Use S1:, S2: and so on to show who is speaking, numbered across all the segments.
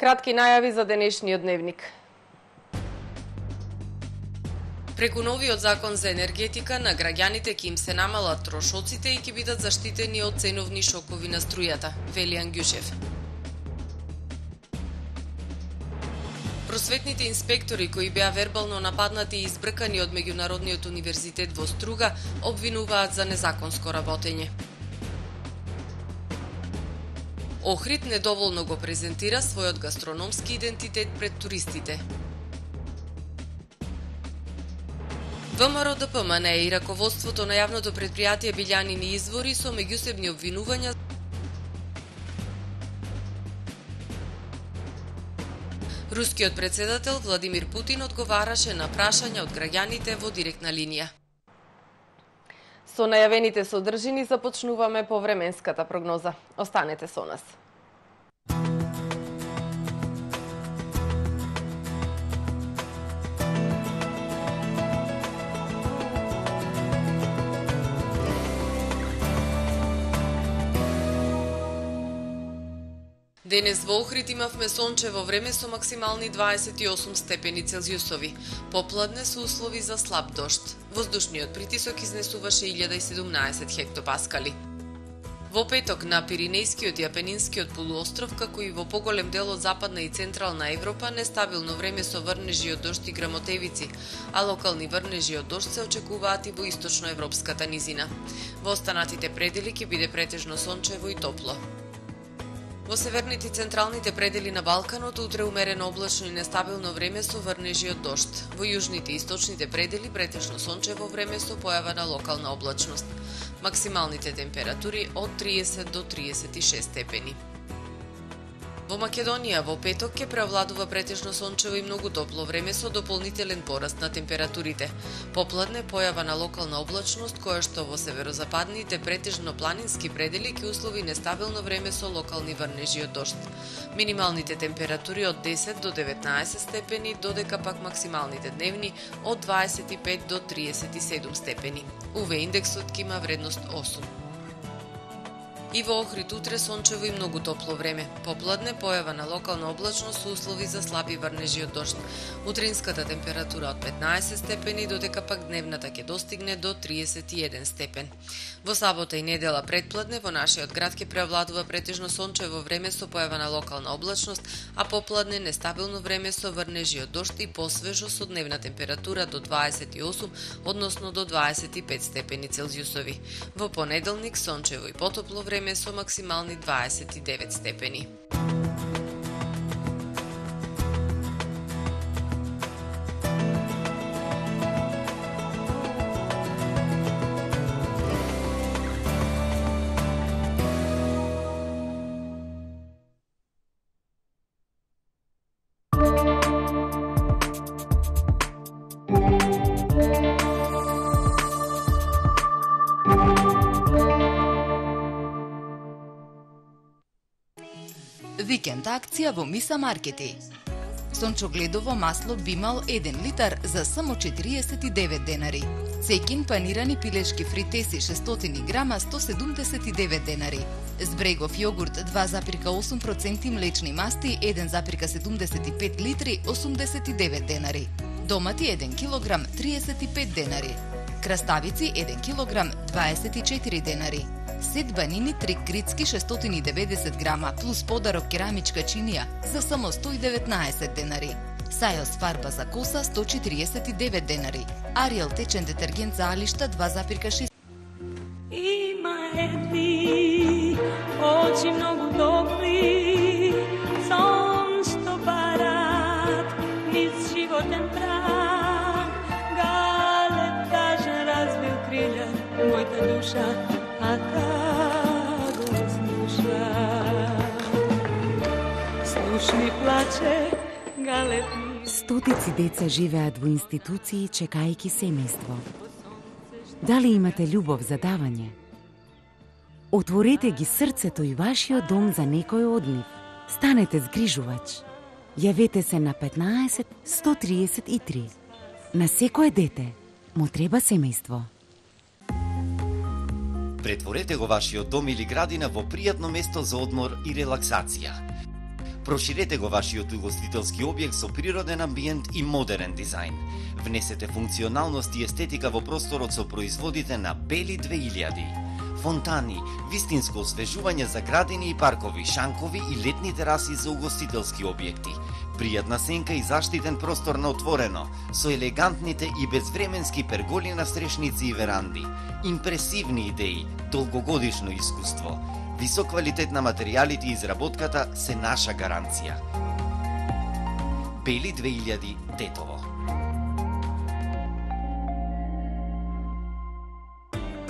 S1: Кратки најави за денешниот дневник. Преку новиот закон за енергетика на граѓаните ќе им се намалат трошоците и ќе бидат заштитени од ценовни шокови на струјата, вели Ангјушев. Просветните инспектори кои беа вербално нападнати и избркани од Меѓународниот универзитет во Струга обвинуваат за незаконско работење. Охрид недоволно го презентира својот гастрономски идентитет пред туристите. ВМРО ДПМН и раководството на јавното предпријатие Билјанини извори со меѓусебни обвинувања. Рускиот председател Владимир Путин одговараше на прашања од граѓаните во директна линија. Со најавените содржини започнуваме по временската прогноза. Останете со нас. Денес во Охрид имавме сончево време со максимални 28 степени Целзиусови. Попладне со услови за слаб дожд. Воздушниот притисок изнесуваше 1017 хектопаскали. Во петок на Пиринејскиот и Апенинскиот полуостров, како и во поголем дел од Западна и Централна Европа, нестабилно време со врнежи од дожд и грамотевици, а локални врнежи од дожд се очекуваат и во источноевропската низина. Во останатите предели ќе биде претежно сончево и топло. Во северните и централните предели на Балканот утре умерено облачно и нестабилно време со врнежи од дожд. Во јужните и источните предели претежно сончево време со појава на локална облачност. Максималните температури од 30 до 36 степени. Во Македонија во петок ќе преовладува претежно сончево и многу топло време со дополнителен пораст на температурите. Попладне појава на локална облачност која што во северозападните претежно планински предели ќе услови нестабилно време со локални врнежи од дожд. Минималните температури од 10 до 19 степени, додека пак максималните дневни од 25 до 37 степени. УВ индексот ќе има вредност 8. И во Охрид утре сончево и многу топло време. Попладне појава на локална облачност со услови за слаби врнежи од дожд. Утринската температура од 15 степени, додека пак дневната ќе достигне до 31 степен. Во сабота и недела предпладне во нашиот град ќе преовладува претежно сончево време со појава на локална облачност, а попладне нестабилно време со врнежи од дожд и посвежо со дневна температура до 28, односно до 25 степени Целзиусови. Во понеделник сончево и потопло време со максимални 29 степени.
S2: Викенд акција во Миса Маркети. Сончогледово масло Бимал 1 литар за само 49 денари. Цекин панирани пилешки фритеси 600 грама 179 денари. Збрегов јогурт 2,8% млечни масти 1,75 литри 89 денари. Домати 1 килограм 35 денари. Краставици 1 килограм 24 денари. Сет банини трик грицки 690 грама плюс подарок керамичка чинија за само 119 денари. Сајос фарба за коса 149 денари. Ариел течен детергент за алишта 2,6.
S3: Има едни очи многу добри, сон што барат низ животен брак. Галеб тажен развил крилја, мојта душа, а та го слуша. Слушни плаче Галеб.
S4: Стотици деца живеат во институции чекајќи семејство. Дали имате љубов за давање? Отворете ги срцето и вашиот дом за некој од нив. Станете згрижувач. Јавете се на 15 133. На секое дете му треба семејство.
S5: Претворете го вашиот дом или градина во пријатно место за одмор и релаксација. Проширете го вашиот угостителски објект со природен амбиент и модерен дизајн. Внесете функционалност и естетика во просторот со производите на Бели 2000. Фонтани, вистинско освежување за градини и паркови, шанкови и летни тераси за угостителски објекти. Пријатна сенка и заштитен простор на отворено, со елегантните и безвременски перголи на стрешници и веранди. Импресивни идеи, долгогодишно искуство. Висок квалитет на материјалите и изработката се наша гаранција. Бели 2000 Тетово.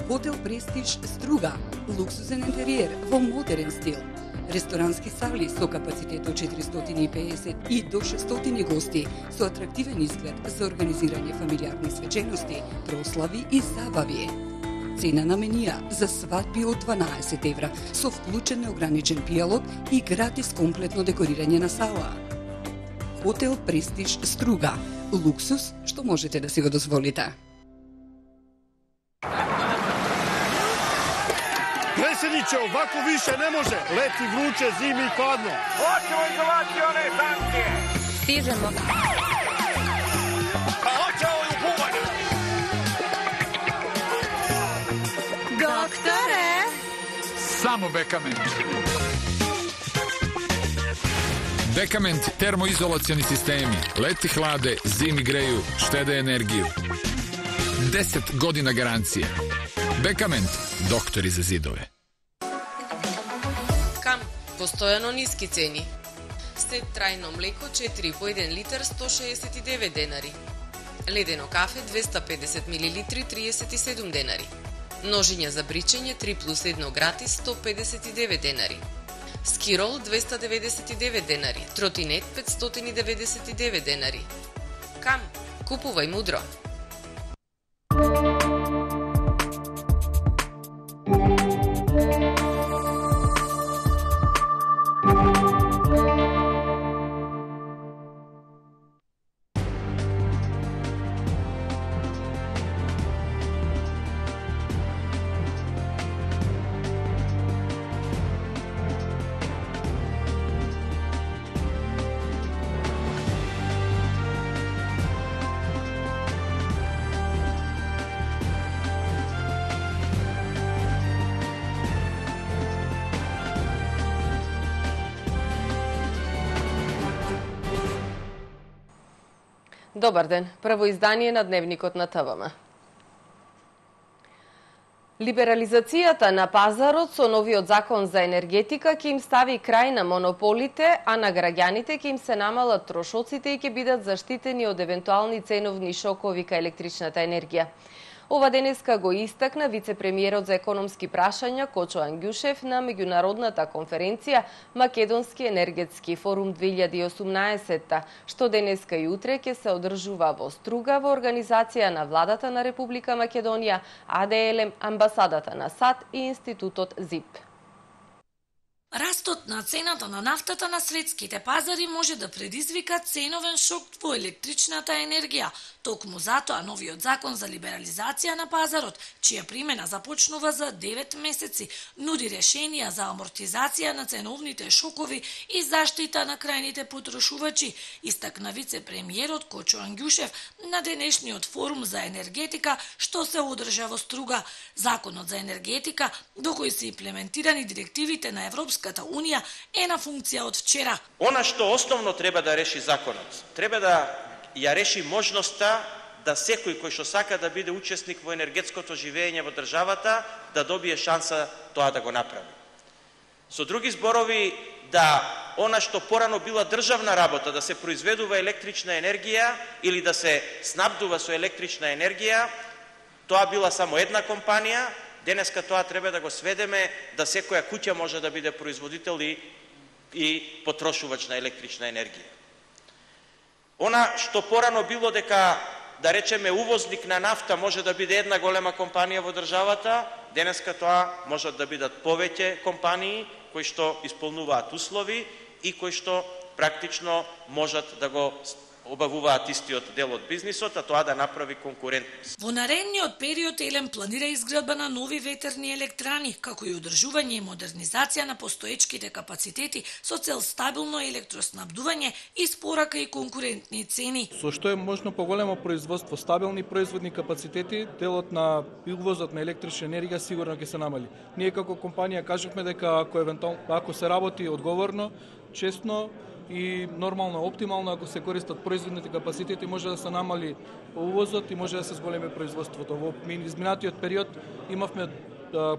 S6: Хотел Престиж Струга, луксузен интериер во модерен стил. Ресторански сали со капацитет од 450 и до 600 гости, со атрактивен изглед за организирање фамилиарни свечености, прослави и забави. Цена на менија за свадби од 12 евра, со вклучен неограничен пијалок и гратис комплетно декорирање на сала. Хотел Престиж Струга, луксус што можете да си го дозволите.
S7: Predsjedniče, ovako više ne može. Leti vruće, zimi i hladno.
S8: Hoćemo izolacione sankcije.
S9: Stižemo.
S8: A hoćemo i u bubanje.
S9: Doktore!
S10: Samo Bekament. Bekament termoizolacioni sistemi. Leti hlade, zimi greju, štede energiju. 10 godina garancije. Bekament, doktori za zidove.
S1: Кам, постојано ниски цени. Стет трајно млеко 4 по 1 литар 169 денари. Ледено кафе 250 мл 37 денари. Ножиња за бричење 3 плюс 1 гратис 159 денари. Скирол 299 денари, тротинет 599 денари. Кам, купувај мудро. Добар ден, прво издание на Дневникот на ТВМ. Либерализацијата на пазарот со новиот закон за енергетика ќе им стави крај на монополите, а на граѓаните ќе им се намалат трошоците и ќе бидат заштитени од евентуални ценовни шокови кај електричната енергија. Ова денеска го истакна вице-премиерот за економски прашања Кочо Ангјушев на меѓународната конференција Македонски енергетски форум 2018, што денеска и утре ќе се одржува во Струга во организација на владата на Република Македонија, АДЛМ, амбасадата на САД и институтот ЗИП.
S11: Растот на цената на нафтата на светските пазари може да предизвика ценовен шок во електричната енергија. Токму затоа новиот закон за либерализација на пазарот, чија примена започнува за 9 месеци, нуди решенија за амортизација на ценовните шокови и заштита на крајните потрошувачи, истакна вице-премиерот Кочо Ангјушев на денешниот форум за енергетика што се одржа во Струга. Законот за енергетика, до кој се имплементирани директивите на Европската Унија, е на функција од вчера.
S12: Она што основно треба да реши законот, треба да ја реши можноста да секој кој што сака да биде учесник во енергетското живење во државата, да добие шанса тоа да го направи. Со други зборови, да она што порано била државна работа, да се произведува електрична енергија или да се снабдува со електрична енергија, тоа била само една компанија. Денеска тоа треба да го сведеме да секоја куќа може да биде производител и потрошувач на електрична енергија. Она што порано било дека, да речеме, увозник на нафта може да биде една голема компанија во државата, денеска тоа можат да бидат повеќе компании кои што исполнуваат услови и кои што практично можат да го обавуваат истиот дел од бизнисот, а тоа да направи конкурентност.
S11: Во наредниот период Елем планира изградба на нови ветерни електрани, како и одржување и модернизација на постоечките капацитети со цел стабилно електроснабдување и спорака и конкурентни цени.
S9: Со што е можно поголемо производство, стабилни производни капацитети, делот на увозот на електрична енергија сигурно ќе се намали. Ние како компанија кажувме дека ако се работи одговорно, честно и нормално, оптимално, ако се користат производните капацитети, може да се намали увозот и може да се зголеми производството. Во изминатиот период имавме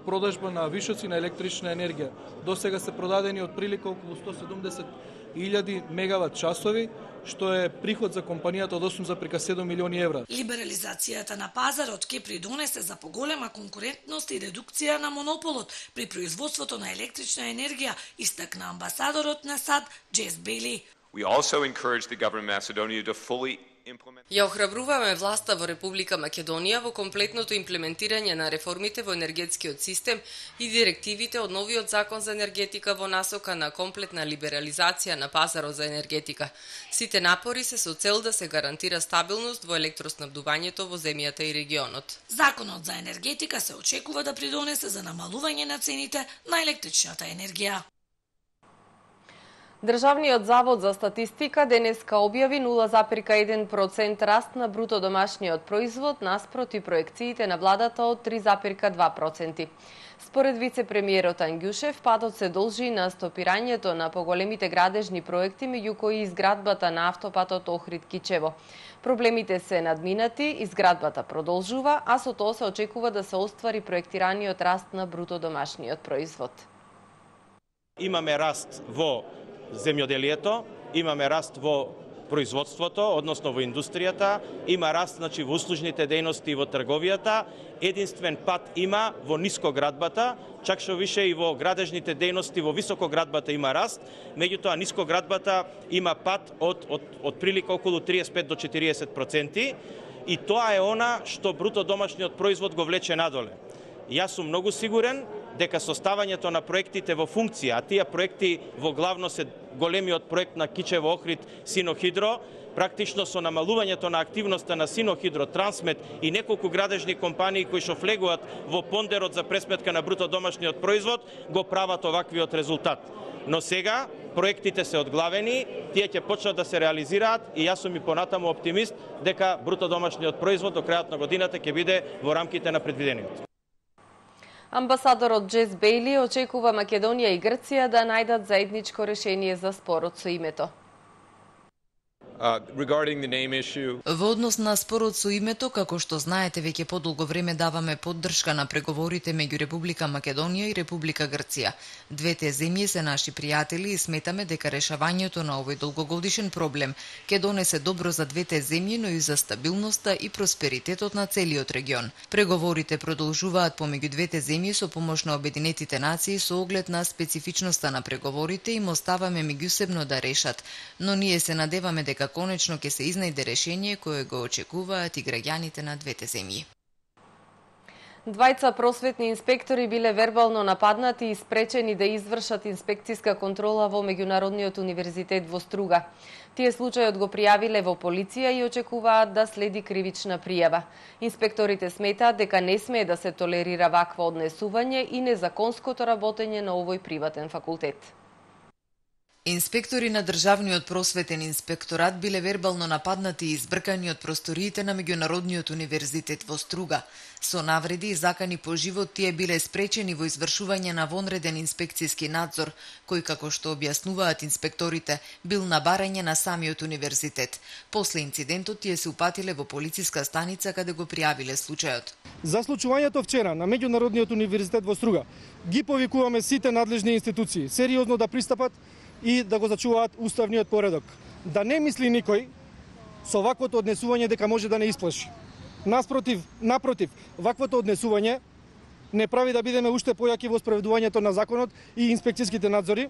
S9: продажба на вишоци на електрична енергија. До сега се продадени отприлика околу 170.000 мегават часови, што е приход за компанијата од 8,7 милиони евра.
S11: Либерализацијата на пазарот ќе придонесе за поголема конкурентност и редукција на монополот при производството на електрична енергија, истакна амбасадорот на САД Джес Бели.
S13: We also encourage the government of Macedonia to fully
S1: Ја охрабруваме власта во Република Македонија во комплетното имплементирање на реформите во енергетскиот систем и директивите од новиот закон за енергетика во насока на комплетна либерализација на пазарот за енергетика. Сите напори се со цел да се гарантира стабилност во електроснабдувањето во земјата и регионот.
S11: Законот за енергетика се очекува да придонесе за намалување на цените на електричната енергија.
S1: Државниот завод за статистика денеска објави 0,1% раст на бруто домашниот производ наспроти проекциите на владата од 3,2%. Според вице-премиерот Ангјушев, падот се должи на стопирањето на поголемите градежни проекти, меѓу кои изградбата на автопатот Охрид-Кичево. Проблемите се надминати, изградбата продолжува, а со тоа се очекува да се оствари проектираниот раст на бруто домашниот производ.
S12: Имаме раст во земјоделието, имаме раст во производството, односно во индустријата, има раст во услужните дејности и во трговијата, единствен пат има во нискоградбата, чак што више и во градежните дејности во високоградбата има раст, меѓутоа нискоградбата има пат од прилика околу 35 до 40%, и тоа е она што бруто домашниот производ го влече надоле. Јас сум многу сигурен дека составањето на проектите во функција, а тие проекти во главно се големиот проект на Кичево Охрид Синохидро, практично со намалувањето на активноста на Синохидро, Трансмет и неколку градежни компании кои што влегуваат во пондерот за пресметка на бруто домашниот производ, го прават оваквиот резултат. Но сега проектите се одглавени, тие ќе почнат да се реализираат и јас сум и понатаму оптимист дека бруто домашниот производ до крајот на годината ќе биде во рамките на предвидениот.
S1: Амбасадорот Джес Бейли очекува Македонија и Грција да најдат заедничко решение за спорот со името.
S2: Во однос на спорот со името, како што знаете, веќе подолго време даваме поддршка на преговорите меѓу Република Македонија и Република Грција. Двете земји се наши пријатели и сметаме дека решавањето на овој долгогодишен проблем ќе донесе добро за двете земји, но и за стабилноста и просперитетот на целиот регион. Преговорите продолжуваат помеѓу двете земји со помош на Обединетите нации со оглед на специфичноста на преговорите и им оставаме меѓусебно да решат, но ние се надеваме дека конечно ќе се изнајде решение кое го очекуваат и граѓаните на двете земји.
S1: Двајца просветни инспектори биле вербално нападнати и спречени да извршат инспекциска контрола во Меѓународниот универзитет во Струга. Тие случајот го пријавиле во полиција и очекуваат да следи кривична пријава. Инспекторите сметаат дека не смее да се толерира вакво однесување и незаконското работење на овој приватен факултет.
S2: Инспектори на Државниот просветен инспекторат биле вербално нападнати и избркани од просториите на Меѓународниот универзитет во Струга. Со навреди и закани по живот тие биле спречени во извршување на вонреден инспекцијски надзор, кој, како што објаснуваат инспекторите, бил на барање на самиот универзитет. После инцидентот тие се упатиле во полициска станица каде го пријавиле случајот.
S14: За случувањето вчера на Меѓународниот универзитет во Струга ги повикуваме сите надлежни институции сериозно да пристапат и да го зачуваат уставниот поредок. Да не мисли никој со ваквото однесување дека може да не исплаши. Напротив, ваквото однесување не прави да бидеме уште појаки во спроведувањето на законот и инспекцијските надзори.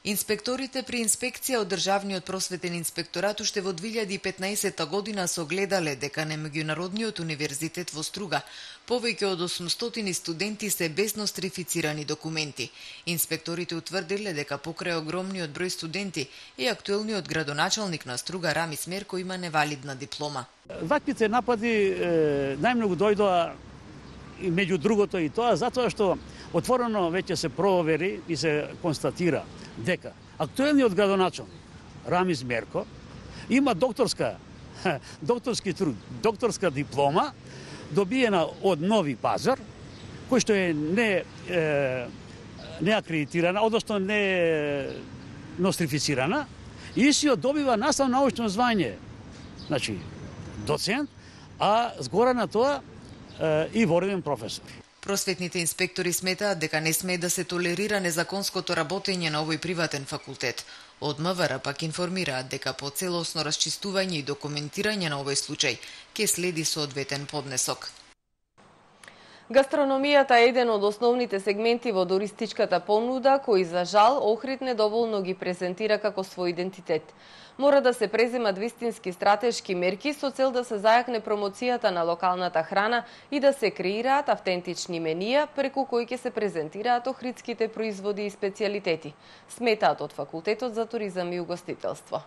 S2: Инспекторите при инспекција од Државниот просветен инспекторат уште во 2015 година согледале дека на Меѓународниот универзитет во Струга повеќе од 800 студенти се без нострифицирани документи. Инспекторите утврдиле дека покрај огромниот број студенти и актуелниот градоначалник на Струга Рамис Мерко има невалидна диплома.
S15: Ваквите напади најмногу дојдоа и меѓу другото и тоа затоа што отворено веќе се провери и се констатира дека актуелниот градоначалник Рамис Мерко има докторски труд, докторска диплома добиена од Нови Пазар, кој што е не акредитирана, односно не нострифицирана, и си добива наставно научно звање, значи доцент, а згора на тоа и вореден професор.
S2: Просветните инспектори сметаат дека не смее да се толерира незаконското работење на овој приватен факултет. Од МВР пак информираат дека по целосно расчистување и документирање на овој случај ќе следи соодветен поднесок.
S1: Гастрономијата е еден од основните сегменти во туристичката понуда, кој за жал Охрид недоволно ги презентира како свој идентитет. Мора да се преземат вистински стратешки мерки со цел да се зајакне промоцијата на локалната храна и да се креираат автентични менија преку кои ќе се презентираат охридските производи и специјалитети, сметаат од Факултетот за туризам и угостителство.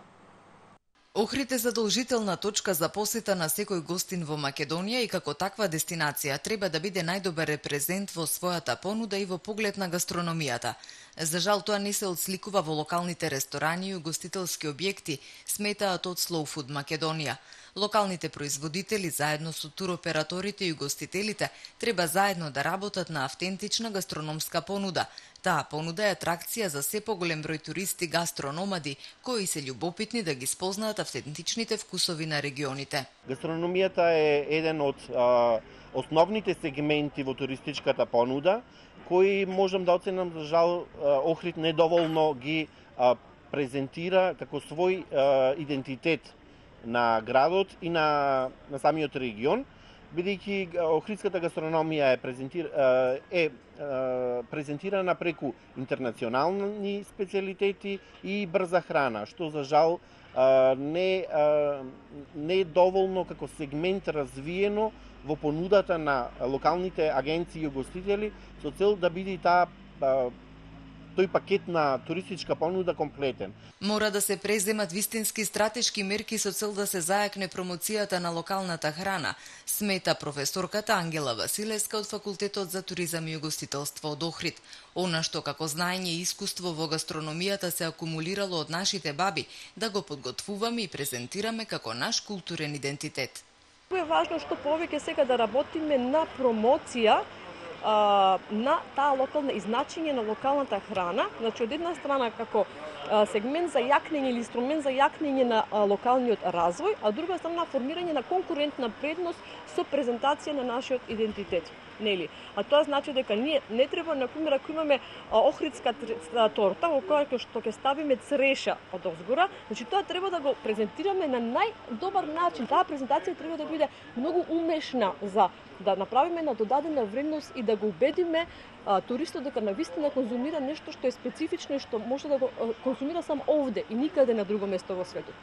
S2: Охрид е задолжителна точка за посета на секој гостин во Македонија и како таква дестинација треба да биде најдобар репрезент во својата понуда и во поглед на гастрономијата. За жал тоа не се отсликува во локалните ресторани и угостителски објекти, сметаат од Slow Food Македонија. Локалните производители заедно со туроператорите и угостителите треба заедно да работат на автентична гастрономска понуда. Таа понуда е атракција за се поголем број туристи гастрономади кои се љубопитни да ги спознаат автентичните вкусови на регионите.
S16: Гастрономијата е еден од основните сегменти во туристичката понуда, кои можам да оценам за жал Охрид недоволно ги презентира како свој идентитет на градот и на самиот регион, бидејќи охридската гастрономија е презентирана преку интернационални специјалитети и брза храна, што за жал не е доволно како сегмент развиено во понудата на локалните агенции и угостители со цел да биде тој пакет на туристичка понуда комплетен.
S2: Мора да се преземат вистински стратешки мерки со цел да се зајакне промоцијата на локалната храна, смета професорката Ангела Василевска од Факултетот за туризам и угостителство од Охрид. Она што како знаење и искуство во гастрономијата се акумулирало од нашите баби, да го подготвуваме и презентираме како наш културен идентитет.
S17: Е важно што повеќе сега да работиме на промоција на таа локална и значење на локалната храна, значи од една страна како сегмент за јакнење или инструмент за јакнење на локалниот развој, а од друга страна формирање на конкурентна предност со презентација на нашиот идентитет. Нели? А тоа значи дека ние не треба, например, ако имаме охридска торта, во која што ќе ставиме цреша од озгора, значи тоа треба да го презентираме на најдобар начин. Таа презентација треба да биде многу умешна за да направиме на додадена вредност и да го убедиме туристот дека навистина конзумира нешто што е специфично и што може да го конзумира само овде и никаде на друго место во светот.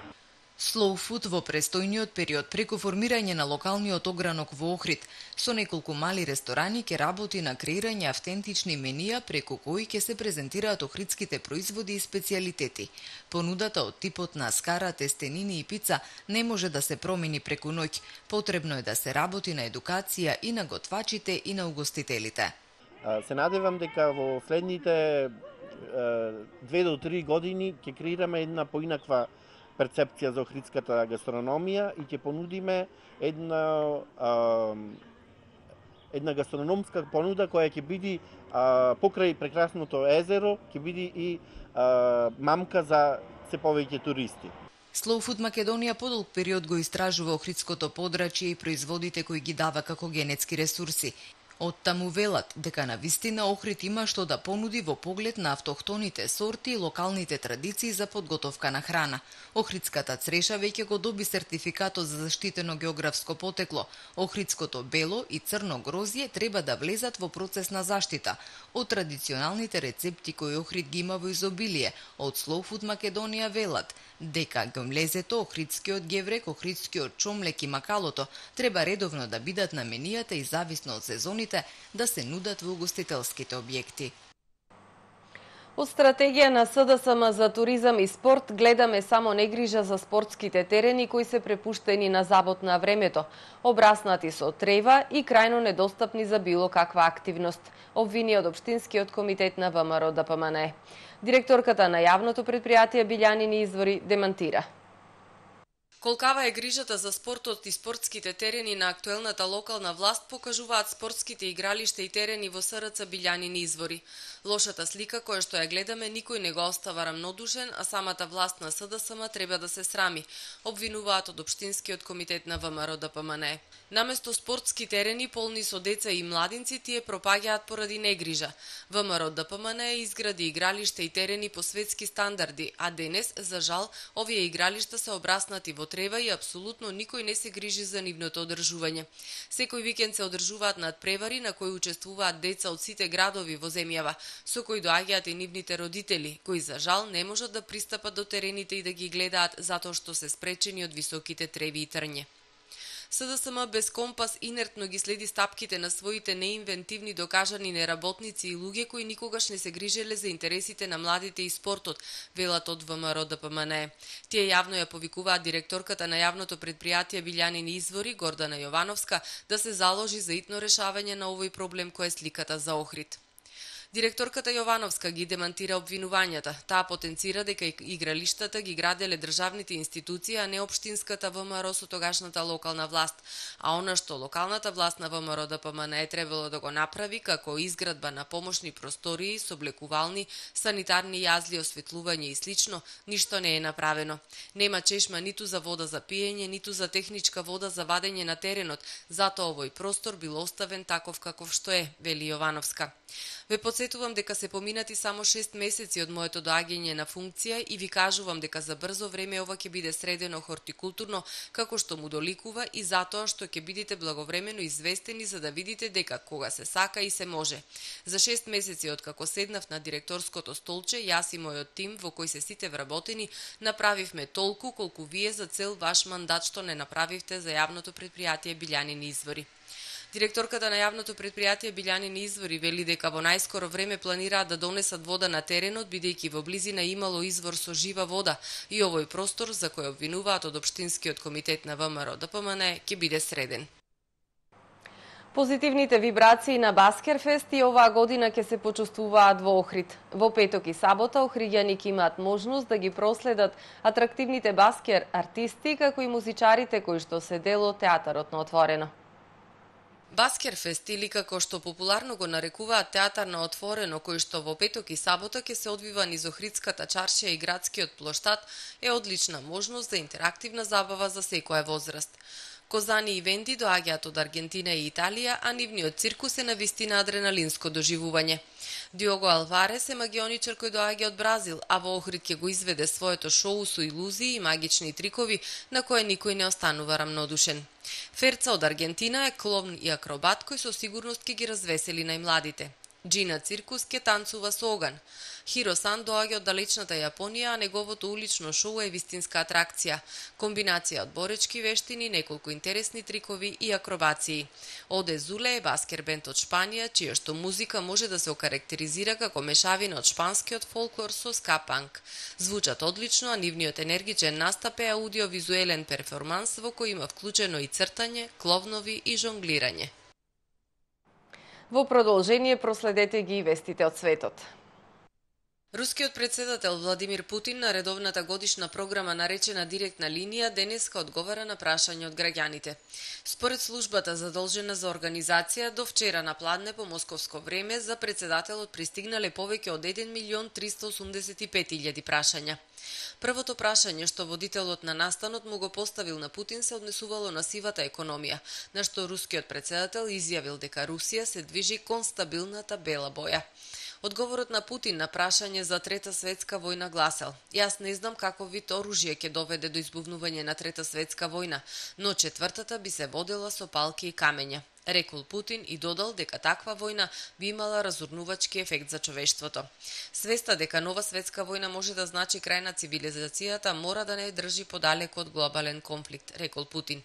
S2: Slow Food во престојниот период преку формирање на локалниот огранок во Охрид со неколку мали ресторани ќе работи на креирање автентични менија преку кои ќе се презентираат охридските производи и специјалитети. Понудата од типот на скара, тестенини и пица не може да се промени преку ноќ. Потребно е да се работи на едукација и на готвачите и на угостителите.
S16: Се надевам дека во следните 2 до 3 години ќе креираме една поинаква перцепција за охридската гастрономија и ќе понудиме една гастрономска понуда која ќе биде покрај прекрасното езеро, ќе биде и мамка за се повеќе туристи.
S2: Slow Food Македонија подолг период го истражува охридското подрачје и производите кои ги дава како генетски ресурси. Оттаму велат дека навистина Охрид има што да понуди во поглед на автохтоните сорти и локалните традиции за подготовка на храна. Охридската цреша веќе го доби сертификатот за заштитено географско потекло. Охридското бело и црно грозје треба да влезат во процес на заштита. Од традиционалните рецепти кои Охрид ги има во изобилие, од Slow Food Македонија велат дека гмлезето, охридскиот геврек, охридскиот чомлек и макалото треба редовно да бидат на менијата и зависно од сезоните да се нудат во угостителските објекти.
S18: Од стратегија на СДСМ за туризам и спорт гледаме само негрижа за спортските терени кои се препуштени на забот на времето, обраснати со трева и крајно недостапни за било каква активност, обвини од Општинскиот комитет на ВМРО ДПМНЕ. Директорката на јавното предпријатие Билјанини извори демантира.
S1: Колкава е грижата за спортот и спортските терени на актуелната локална власт покажуваат спортските игралишта и терени во СРЦ Билјанини извори. Лошата слика која што ја гледаме никој не го остава рамнодушен, а самата власт на СДСМ треба да се срами, обвинуваат од Општинскиот комитет на ВМРО ДПМНЕ. Наместо спортски терени полни со деца и младинци, тие пропаѓаат поради негрижа. ВМРО ДПМНЕ изгради игралишта и терени по светски стандарди, а денес, за жал, овие игралишта се обраснати во трева и апсолутно никој не се грижи за нивното одржување. Секој викенд се одржуваат надпревари на кои учествуваат деца од сите градови во земјава, со кои доаѓаат и нивните родители, кои за жал не можат да пристапат до терените и да ги гледаат затоа што се спречени од високите треви и трње. СДСМ без компас инертно ги следи стапките на своите неинвентивни докажани неработници и луѓе кои никогаш не се грижеле за интересите на младите и спортот, велат од ВМРО ДПМНЕ. Тие јавно ја повикуваат директорката на јавното предпријатие Билјанини извори, Гордана Јовановска, да се заложи за итно решавање на овој проблем кој е сликата за Охрид. Директорката Јовановска ги демантира обвинувањата. Таа потенцира дека игралиштата ги граделе државните институции, а не општинската ВМРО со тогашната локална власт. А она што локалната власт на ВМРО ДПМНЕ требало да го направи како изградба на помошни простории, соблекувални, санитарни јазли, осветлување и слично, ништо не е направено. Нема чешма ниту за вода за пиење, ниту за техничка вода за вадење на теренот, затоа овој простор бил оставен таков каков што е, вели Јовановска. Ве подсетувам дека се поминати само 6 месеци од моето доаѓање на функција и ви кажувам дека за брзо време ова ќе биде средено хортикултурно како што му доликува и затоа што ќе бидете благовремено известени за да видите дека кога се сака и се може. За 6 месеци од како седнав на директорското столче, јас и мојот тим во кој се сите вработени, направивме толку колку вие за цел ваш мандат што не направивте за јавното предпријатие Билјанини извори. Директорката на јавното предпријатие Билјанини извори вели дека во најскоро време планираат да донесат вода на теренот, бидејќи во близина имало извор со жива вода и овој простор за кој обвинуваат од Општинскиот комитет на ВМРО ДПМНЕ ќе биде среден.
S18: Позитивните вибрации на Баскерфест и оваа година ќе се почувствуваат во Охрид. Во петок и сабота охриѓани ќе имаат можност да ги проследат атрактивните баскер артисти, како и музичарите кои што се дел од театарот на отворено.
S1: Баскерфест, или како што популарно го нарекуваат театар на отворено, кој што во петок и сабота ќе се одвива низ Охридската чаршија и градскиот плоштад, е одлична можност за интерактивна забава за секоја возраст. Козани и венди доаѓаат од Аргентина и Италија, а нивниот циркус е навистина адреналинско доживување. Диого Алварес е магионичар кој доаѓа од Бразил, а во Охрид ќе го изведе своето шоу со илузии и магични трикови на кое никој не останува рамнодушен. Ферца од Аргентина е кловн и акробат кој со сигурност ќе ги развесели најмладите. Джина Циркус ќе танцува со оган. Хиро-сан доаѓа од далечната Јапонија, а неговото улично шоу е вистинска атракција. Комбинација од боречки вештини, неколку интересни трикови и акробации. Оде Зуле е баскер бенд од Шпанија, чија што музика може да се окарактеризира како мешавина од шпанскиот фолклор со ска-панк. Звучат одлично, а нивниот енергичен настап е аудиовизуелен перформанс во кој има вклучено и цртање, кловнови и жонглирање.
S18: Во продолжение проследете ги и вестите од светот.
S1: Рускиот председател Владимир Путин на редовната годишна програма наречена Директна линија денеска одговара на прашање од граѓаните. Според службата задолжена за организација, до вчера на пладне по московско време за председателот пристигнале повеќе од 1.385.000 прашања. Првото прашање што водителот на настанот му го поставил на Путин се однесувало на сивата економија, на што рускиот председател изјавил дека Русија се движи кон стабилната бела боја. Одговорот на Путин на прашање за Трета светска војна гласел: "Јас не знам каков вид оружје ќе доведе до избувнување на Трета светска војна, но четвртата би се водела со палки и камења", рекол Путин и додал дека таква војна би имала разурнувачки ефект за човештвото. Свеста дека нова светска војна може да значи крај на цивилизацијата мора да не држи подалеку од глобален конфликт, рекол Путин.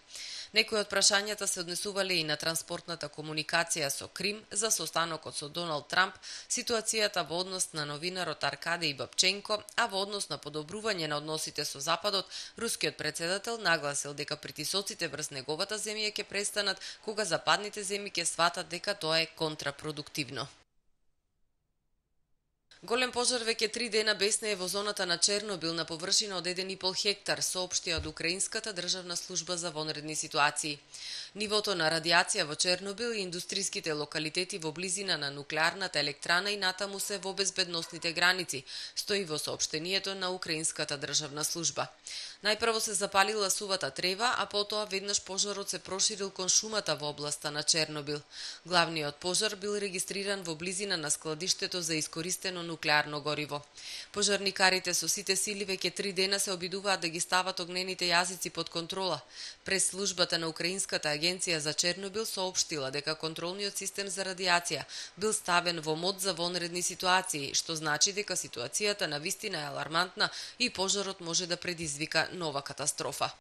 S1: Некои од прашањата се однесувале и на транспортната комуникација со Крим, за состанокот со Доналд Трамп, ситуацијата во однос на новинарот Аркадеј Бабченко, а во однос на подобрување на односите со Западот, рускиот председател нагласил дека притисоците врз неговата земја ќе престанат кога западните земји ќе сватат дека тоа е контрапродуктивно. Голем пожар веќе 3 дена беснее во зоната на Чернобил на површина од 1,5 хектар, соопштија од Украинската државна служба за вонредни ситуации. Нивото на радиација во Чернобил и индустриските локалитети во близина на нуклеарната електрана и натаму се во безбедносните граници, стои во соопштението на Украинската државна служба. Најпрво се запалила сувата трева, а потоа веднаш пожарот се проширил кон шумата во областа на Чернобил. Главниот пожар бил регистриран во близина на складиштето за искористено нуклеарно гориво. Пожарникарите со сите сили веќе 3 дена се обидуваат да ги стават огнените јазици под контрола. Прес службата на Украинската агенција за Чернобил соопштила дека контролниот систем за радиација бил ставен во мод за вонредни ситуации, што значи дека ситуацијата навистина е алармантна и пожарот може да предизвика нова катастрофа.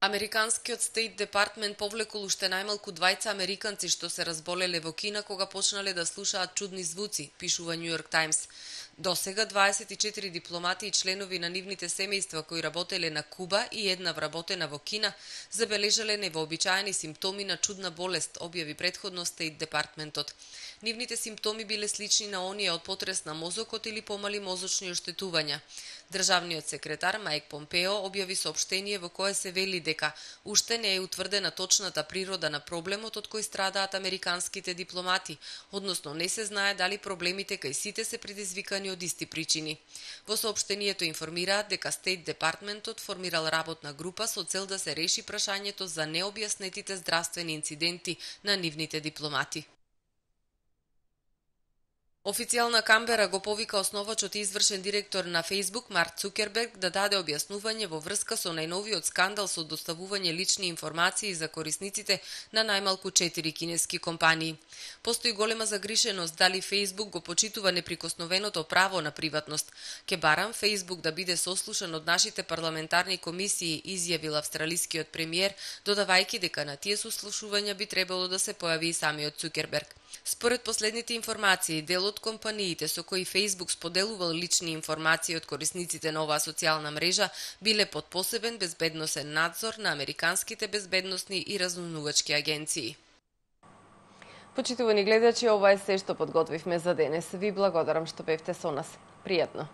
S1: Американскиот State Department повлекол уште најмалку 2 американци што се разболеле во Кина кога почнале да слушаат чудни звуци, пишува New York Times. До сега 24 дипломати и членови на нивните семејства кои работеле на Куба и една вработена во Кина забележале невообичаени симптоми на чудна болест, објави претходно State Departmentот. Нивните симптоми биле слични на оние од потрес на мозокот или помали мозочни оштетувања. Државниот секретар Мајк Помпео објави соопштение во кое се вели дека уште не е утврдена точната природа на проблемот од кој страдаат американските дипломати, односно не се знае дали проблемите кај сите се предизвикани од исти причини. Во соопштението информираат дека State Departmentот формирал работна група со цел да се реши прашањето за необјаснетите здравствени инциденти на нивните дипломати. Официјална Камбера го повика основачот и извршен директор на Facebook Марк Цукерберг да даде објаснување во врска со најновиот скандал со доставување лични информации за корисниците на најмалку 4 кинески компании. Постои голема загриженост дали Facebook го почитува неприкосновеното право на приватност. Ке барам Facebook да биде сослушан од нашите парламентарни комисии, изјавил австралискиот премиер, додавајќи дека на тие сослушувања би требало да се појави и самиот Цукерберг. Според последните информации, дел од компаниите со кои Facebook споделувал лични информации од корисниците на оваа социјална мрежа биле под посебен безбедносен надзор на американските безбедносни и разузнавачки агенции.
S18: Почитувани гледачи, ова е се што подготвивме за денес. Ви благодарам што бевте со нас. Пријатно.